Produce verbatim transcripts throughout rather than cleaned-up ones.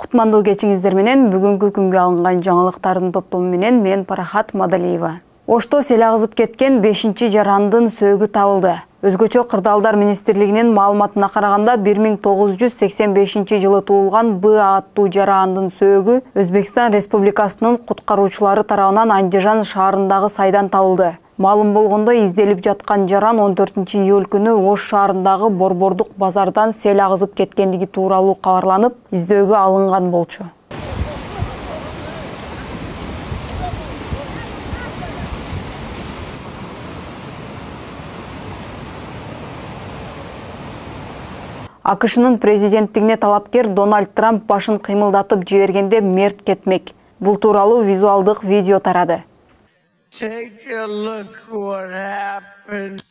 Кутмандуу кечиңиздер менен бүгүнкү күнгө алынган жаңылыктардын топтому менен мен Парахат Мадалиева. Ошто сел агызып кеткен бешинчи жарандын сөөгү табылды. Өзгөчө Кырдаалдар министрлигинин маалыматына караганда бир миң тогуз жүз сексен бешинчи жылы туулган Б аттуу жарандын сөөгү Өзбекстан Республикасынын куткаруучулары тарабынан Андижан шаарындагы сайдан табылды. Маалым болгондо изделип жаткан жаран он төртүнчү июль күнү Ош шаарындагы Борбордук базардан сел агызып кеткендиги тууралуу кабарланып, издөөгө алынган болчу. АКШнын президенттигине талапкер Дональд Трамп башын кыймылдатып жибергенде мерт кетмек. Бул тууралуу визуалдык видео тарады. Take a look what happened.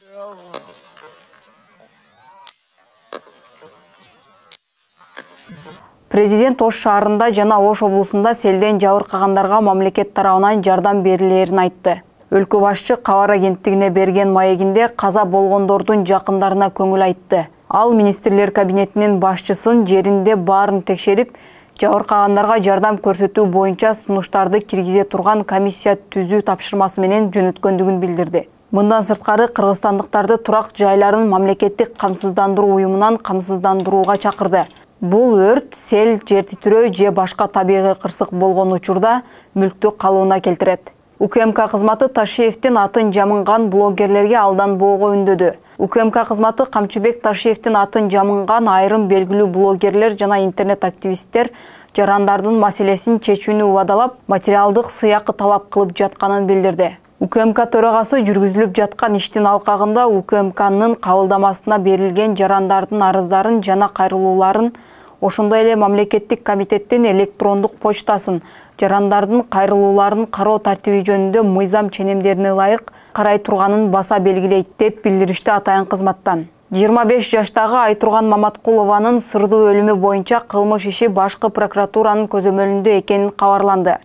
Президент Ош шаарында жана Ош облусунда селден жабыркагандарга мамлекет тарабынан жардам берилерин айтты. Өлкө башчы кабар агенттигине берген маегинде каза болгондордун жакындарына көңүл айтты. Ал министрлер кабинетинин башчысын жеринде баарын текшерип, жабыркагандарга жардам көрсөтүү боюнча сунуштарды киргизе турган комиссия түзүү тапшырмасы менен жөнөткөндүгүн билдирди. Мындан сырткары кыргызстандыктарды турак жайларын мамлекеттик камсыздандыруу уюмунан камсыздандырууга чакырды. Бул өрт, сел, жер титирөө же башка табигый кырсык болгон учурда мүлктү калыбына келтирет. УКМК кызматы Ташиевдин атын жамынган блогерлерге алданбоого үндөдү. УКМК кызматы Камчыбек Ташиевдин атын жамынган айрым белгилүү блогерлер жана интернет активисттер жарандардын маселесин чечүүнү убадалап, материалдык сыйакы талап кылып жатканын билдирди. УКМК төрагасы жүргүзүлүп жаткан иштин алкагында УКМКнын кабылдамасына берилген жарандардын арыздарын жана кайрылууларын, ошондой эле мамлекеттик комитеттин электрондук почтасын жарандардын кайрылууларын кароо тартиби жөнүндө мыйзам ченемдерине ылайык карай турганын баса белгилейт деп билдиришти атайын кызматтан. жыйырма беш жаштагы Айтурган Маматкулованын сырдуу өлүмү боюнча кылмыш иши башкы прокуратуранын көзөмөлүндө экени кабарланды.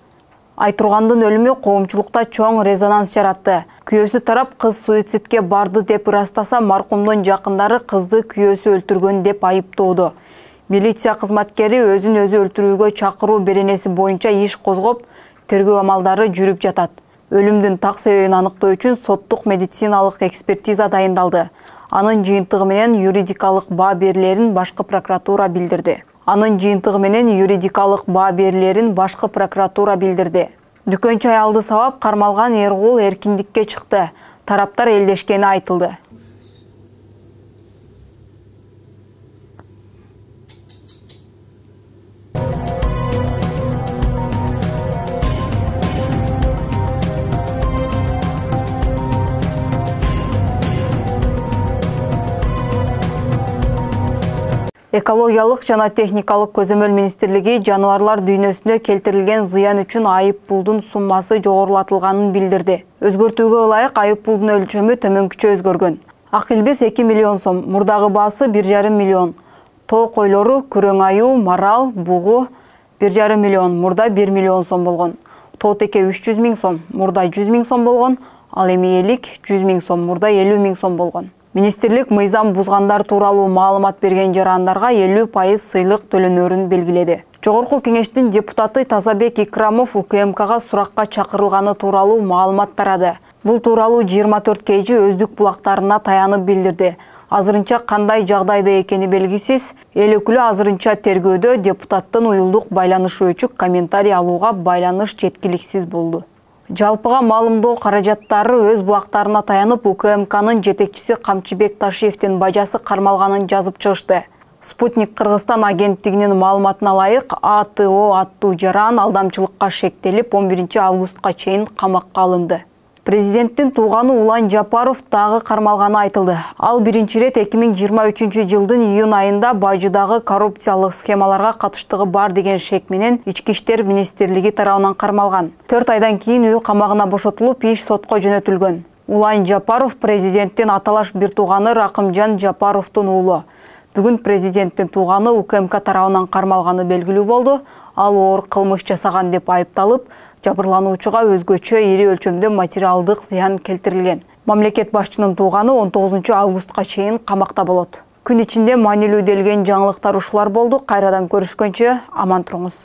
Айтургандын өлүмү коомчулукта чоң резонанс жаратты. Күйөөсү тарап кыз суицидке барды деп ырастаса, маркумдун жакындары кызды күйөөсү өлтүргөн деп айыптоодо. Милиция кызматкери өзүн өзү өлтүрүүгө чакыруу беренеси боюнча иш козгоп, тергөө амалдары жүрүп жатат. Өлүмдүн так себебин аныктоо үчүн соттук медициналык экспертиза дайындалды. Анын жыйынтыгы менен юридикалык баа берилерин башкы прокуратура билдирди. Анын жыйынтыгы менен юридикалык баа берилерин башкы прокуратура билдирди. Дүкөнчү аялды сабап кармалган Эргул эркиндикке чыкты. Тараптар элдешкени айтылды. Экологиялык жана техникалык көзөмөл министрлиги жаныбарлар дүйнөсүнө келтирилген зыян үчүн айып пулдун суммасы жогорулатылганын билдирди. Өзгөртүүгө ылайык айып пулдун өлчөмү төмөнкүчө өзгөргөн. Ак илбирс эки миллион сом, мурдагы баасы бир жарым миллион. Тоо койлору, күрөң аюу, марал, бугу бир жарым миллион, мурда бир миллион сом болгон. Тоо теке үч жүз миң сом, мурда жүз миң сом болгон. Ал эми элик жүз миң сом, мурда элүү миң сом болгон. Министрлик мыйзам бузгандар тууралуу маалымат берген жарандарга элүү пайыз сыйлык төлөнөрүн белгиледи. Жогорку кеңештин депутаты Тазабек Икрамов УКМКга суракка чакырылганы тууралуу маалымат тарады. Бул тууралуу жыйырма төрт кей жи өздүк булактарына таянып билдирди. Азырынча кандай жагдайда экени белгисиз, эл өкүлү азырынча тергөөдө депутаттын уюлдук байланышы өчүк комментарий алууга байланыш жеткиликсиз болду. Жалпыга маалымдоо каражаттары өз булактарына таянып УКМКнын жетекчиси Камчыбек Ташиевдин бажасы кармалганын жазып чыгышты. Спутник Кыргызстан агенттигинин маалыматына ылайык, А Т О аттуу жаран алдамчылыкка шектелип он биринчи августка чейин камакка алынды. Президенттин тууганы Улан Жапаров дагы кармалганы айтылды. Ал биринчи ирет эки миң жыйырма үчүнчү жылдын июнь айында Бажыдагы коррупциялык схемаларга катыштыгы бар деген шек менен Ички иштер министрлиги тарабынан кармалган. төрт айдан кийин үй камагына бошотулуп, иш сотко жөнөтүлгөн. Улан Жапаров президенттин аталаш бир тууганы Ракымжан Жапаровдун уулу. Бүгүн президенттин тууганы УКМК тарабынан кармалганы белгилүү болду. Ал оор кылмыш жасаган деп айыпталып, жабырлануучуга өзгөчө ири өлчөмдө материалдык зыян келтирилген. Мамлекет башчынын тууганы он тогузунчу августка чейин камакта болот. Күн ичинде маанилүү делген жаңылыктар ушулар болду. Кайрадан көрүшкөнчө аман туруңуз.